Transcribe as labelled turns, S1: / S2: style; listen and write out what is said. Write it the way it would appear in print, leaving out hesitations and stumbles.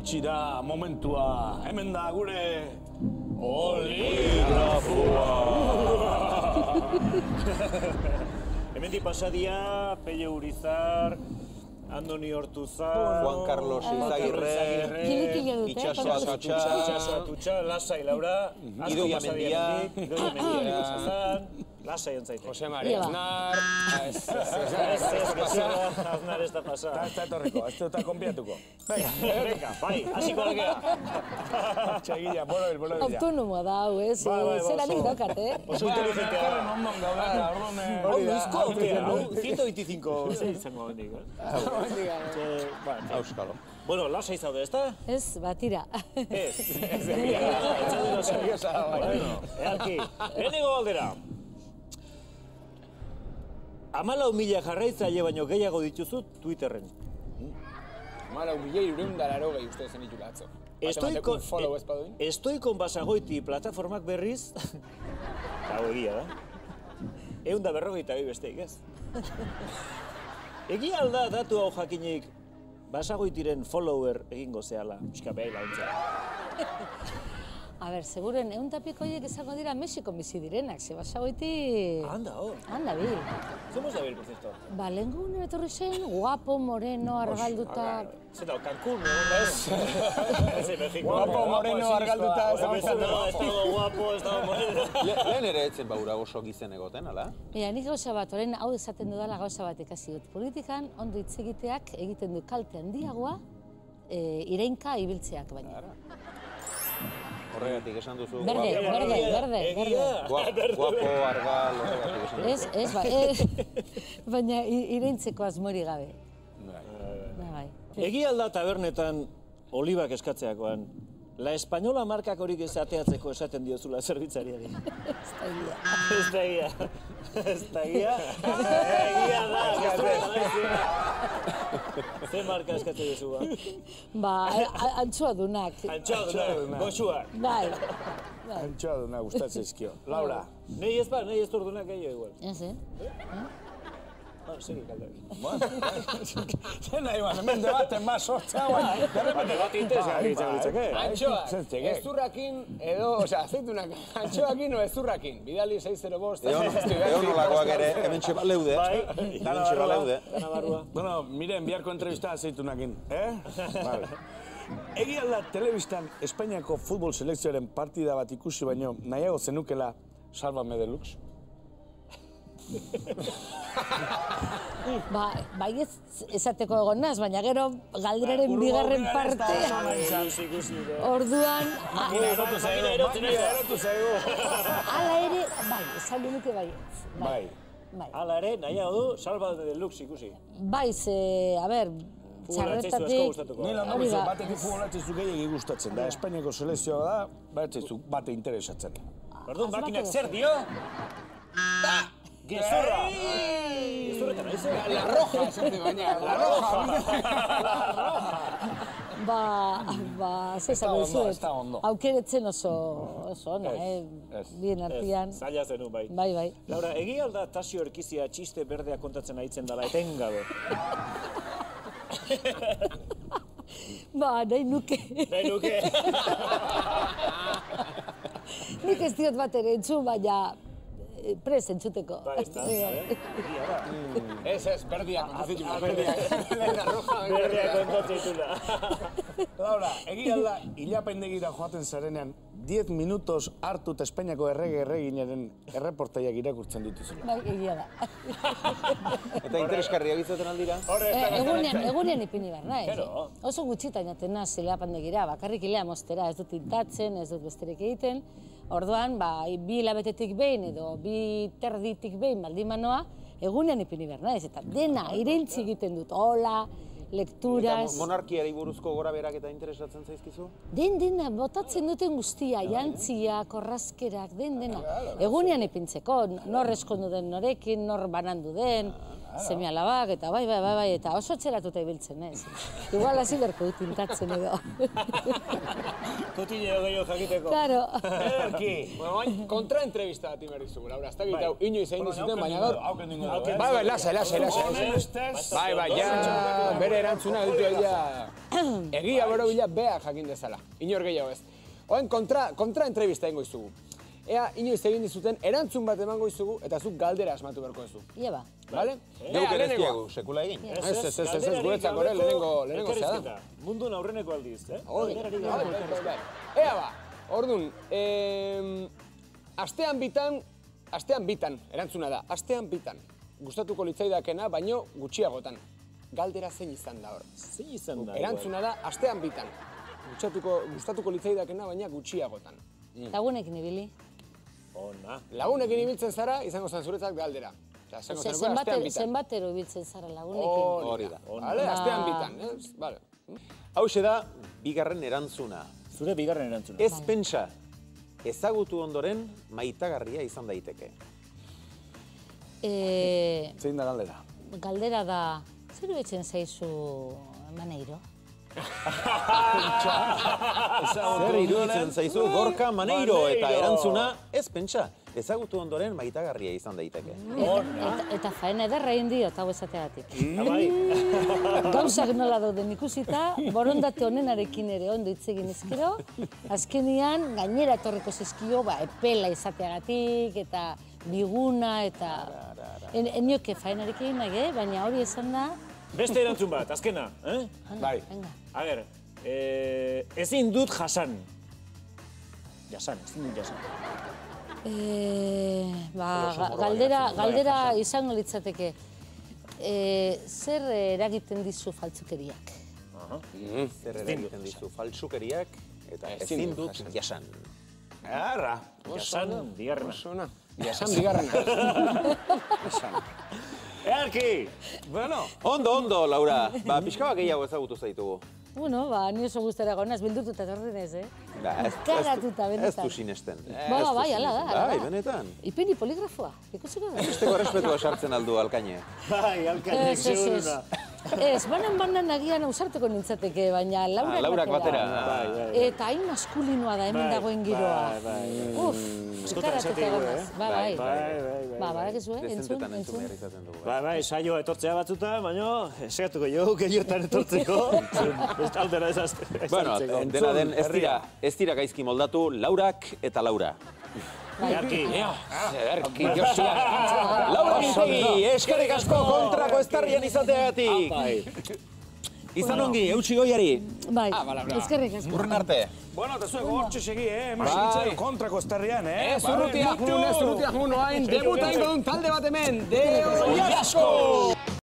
S1: iritsi da momentua. Hemen da gure Oligrafoa.
S2: Hemendik pasadia, Pelle Urizar, Andoni Hortuzar,
S3: Juan Carlos Izagirre, Itxaso
S2: Atutxa, Lasai Laura,
S3: Idoia Mendia,
S2: Lasai ontzaite.
S4: Jose Maria Aznar...
S2: Aznar ez da pasa.
S1: Eta etorriko, ez dut konpiatuko.
S2: Venga, bai, hasiko algea.
S1: Txegila, bolo dira.
S5: Autonomoa da, hau, ez? Zeranik dakat,
S2: Oso inteligentea.
S1: Onduzko,
S2: 125 izango bendik,
S3: Auskalo.
S2: Bueno, lasai zaude, ez da?
S5: Ez, batira.
S2: Ez Bueno, ealki, lehenengo galdera. 14.000 jarraitzaile baino gehiago dituzu Twitterren.
S4: 14.000 uste zen ditu atzo.
S2: Estoikon Basagoiti plataformak berriz, hau egia da, 152 besteik ez. Egia alda datu hau jakinik Basagoitiren follower egingo zehala, euskapea launtza.
S5: A ber, seguren, 100 horiek izango dira Mexikon bizi direnak, ze Basagoiti...
S2: Anda, hor.
S5: Anda, bil.
S2: Zemuz da bil, por cierto?
S5: Ba, lehenko gune etorri zen, guapo, moreno, argalduta...
S2: Zeta, Cancún, ez?
S4: Guapo, moreno, argalduta...
S2: Ez dago guapo, ez dago moreno.
S3: Lehen ere etzen baura oso gizen egoten, ala?
S5: Mira, nik gauza bat, orain hau esaten dudala gauza bat ikasi dut. Politikan, ondo hitz egiteak egiten du kalte handiagoa, ireinka ibiltzeak baina.
S3: Horregatik esan duzu...
S5: Berde.
S3: Guapo, argal, horregatik esan duzu.
S5: Ez, baina ireintzeko asmori gabe. Bai.
S2: Egia alda tabernetan olibak eskatzeakoan, La Española markak horik esateatzeko esaten diozula zerbitzariari. Ez da egia. Egia da. Ze marka eskatzen duzu ba?
S5: Ba, antxoadunak.
S2: Goxuak.
S5: Bai.
S1: Antxoadunak gustatzen izkio. Laura.
S2: Nei ez ba, nei ez ordunak gehiago igual.
S5: Ez,
S2: Segi kaldaki.
S1: Zer nahi ban, hemen debaten ma sortzea guan.
S2: Debate interesgarri litzake.
S4: Antxoak, ezurrakin edo, azeitunak, antxoakin o ezurrakin. Bidali 605.
S3: Egon nolakoak ere, hemen txeba leude. Hemen txeba leude.
S1: Bueno, miren, biharko entrevista azeitunakin, Vale. Egia da telebistan Espainiako futbol selekzioaren partida bat ikusi baino nahiago zenukela Sálvame Deluxe?
S5: Bai esateko egon naz, baina gero galderaren bigarren partea. Orduan...
S1: Erotu zaigu.
S5: Hala ere, bai, esan nuke bai.
S1: Bai.
S2: Hala ere, nahiago du Sálvame Deluxe ikusi.
S5: Bai, ze, a ber, txarretatik...
S1: Nila nagozu, batetik futbolatzezu gehiagi gustatzen da. Espainiako selekzioa da, bate interesatzen.
S2: Orduan, makinak zer dio? Gezurra! Gezurretan, haize?
S4: La roja, esate baina, la roja!
S5: Ba, zezan duzuet, aukeretzen oso ona, bien artian.
S2: Zaila zenu, bai.
S5: Bai.
S2: Laura, egia alda Tasio Erkizia txiste berdea kontatzen aitzen dela etengabe?
S5: Ba, nahi nuke. Nik ez diot bat ere entzun, baina prez entzuteko.
S4: Ez, berdia kontatzen berdia.
S2: Berdia kontatzen
S1: Laura, egia da, hilapendegira joaten zarenean, 10 minutos hartut Espainiako erreginaren erreportaiak irakurtzen dituzula.
S5: Bai, egia da.
S3: Eta interesgarriak izaten aldira?
S5: Egunean ipini behar, nahi? Oso gutxitan jaten naz hilapendegira, bakarrik hilea mostera, ez dut tintatzen, ez dut besterik egiten. Orduan, bi hilabetetik behin edo bi terditik behin baldin manoa, egunean ipini behar, nahi? Eta dena, ireintzi egiten dut, hola, lekturas...
S3: Eta monarkiari buruzko gora berak eta interesatzen zaizkizu?
S5: Dena, botatzen duten guztia, jantziak, orrazkerak, dena. Egunean ipintzeko, nor eskondu den norekin, nor banandu den, seme-alabak, eta bai, eta oso txeratuta ibiltzen, ez. Igual hasi berko dut tintatzen edo.
S2: Kotileo gehiago jakiteko.
S5: Claro.
S4: Ederki. Bueno, kontraentrevista bat inberdi zugu, Laura. Ez dakit hau inoiz egin dizuten, baina gaur... Bai, lasai. Bai, ja, bere erantzuna ditu egia... Egia bero bila beak jakin dezala. Inor gehiago ez. Oen kontraentrevista egingo izugu. Ea, inoiz egin dizuten, erantzun bat emango izugu, eta zuk galdera asmatu berko duzu.
S5: Ia ba.
S4: Bale?
S3: Neuk ere ez diagu, sekula egin.
S4: Ez, guretzak ore, lehenengo zea da.
S2: Mundun aurreneko aldiz, eh?
S4: Ea ba, orduan, astean bitan, erantzuna da, astean bitan. Gustatuko litzaidakena, baino gutxiagotan. Galdera zein izan da hor.
S2: Zein izan da?
S4: Erantzuna da, astean bitan. Gustatuko litzaidakena, baina gutxiagotan.
S5: Lagunekin ibili.
S2: Ona.
S4: Lagunekin ibiltzen zara, izango zen zuretzat galdera.
S5: Zenbatero ibiltzen zara lagunekin.
S3: Hori da.
S4: Bale, astean bitan, ez? Bale.
S3: Hauxe da, bigarren erantzuna.
S2: Zure bigarren erantzuna.
S3: Ez pentsa, ezagutu ondoren maitagarria izan daiteke.
S1: Zein da galdera?
S5: Galdera da, zer iruditzen zaizu Maneiro?
S3: Zer iruditzen zaizu Gorka Maneiro eta erantzuna ez pentsa, ezagutu ondoren maitagarria izan daiteke.
S5: Eta faena ederra egin dio, eta hau esateagatik. Gauzak nola dauden ikusita, borondate honenarekin ere ondo hitz egin ezkero, azkenian gainera etorriko zizkio, epela izateagatik, eta biguna, eta... Enioke faenarekin nahi, baina hori esan da...
S2: Beste erantzun bat, azkena, eh?
S1: Bai.
S2: A ber, ezin dut jasan. Ezin dut jasan.
S5: Galdera izango litzateke. Zer eragiten dizu faltzukeriak?
S3: Zer eragiten dizu faltsukeriak eta ezin dut jasan.
S1: Arra.
S2: Jasan, bigarrena.
S4: Jasan bigarrena.
S2: Earki!
S1: Bueno.
S3: Ondo, Laura. Pixka bat gehiago ezagutu zaitugu.
S5: Bueno, ni oso guztara gonaz, bildututa torrenez,
S3: Ez
S5: Karatuta, benetan.
S3: du sinesten.
S5: Bai, ala da.
S3: Bai, benetan.
S5: Ipini poligrafoa, ikusiko da.
S3: Esteko respetua sartzen aldu alkaine.
S2: Bai, alkainek seguruna.
S5: Ez, banan agian ausartuko nintzateke, baina
S3: Laurak batera.
S5: Eta hain maskulinoa da hemen dagoen giroa. Karatuta gonaz. Bai. Badakizu, entzun.
S2: Bai, saioa etortzea batzuta, baina esagatuko jo, gehiotan etortzeko. Aldera ezazte.
S3: Bueno, dena den ez dira gaizki moldatu, Laurak eta Laura.
S4: Ederki, Josia.
S3: Laura Mintegi, eskerrik asko kontrako estarrian izateagatik. Izan ongi, eutsi goiari.
S5: Bai, eskerrik asko.
S3: Urren arte.
S1: Bueno, eta zuek hortxe segi, Eman kontrako estarrian,
S4: Zurrutia juno hain, debuta ingo dun talde bat hemen. Deo Jasko!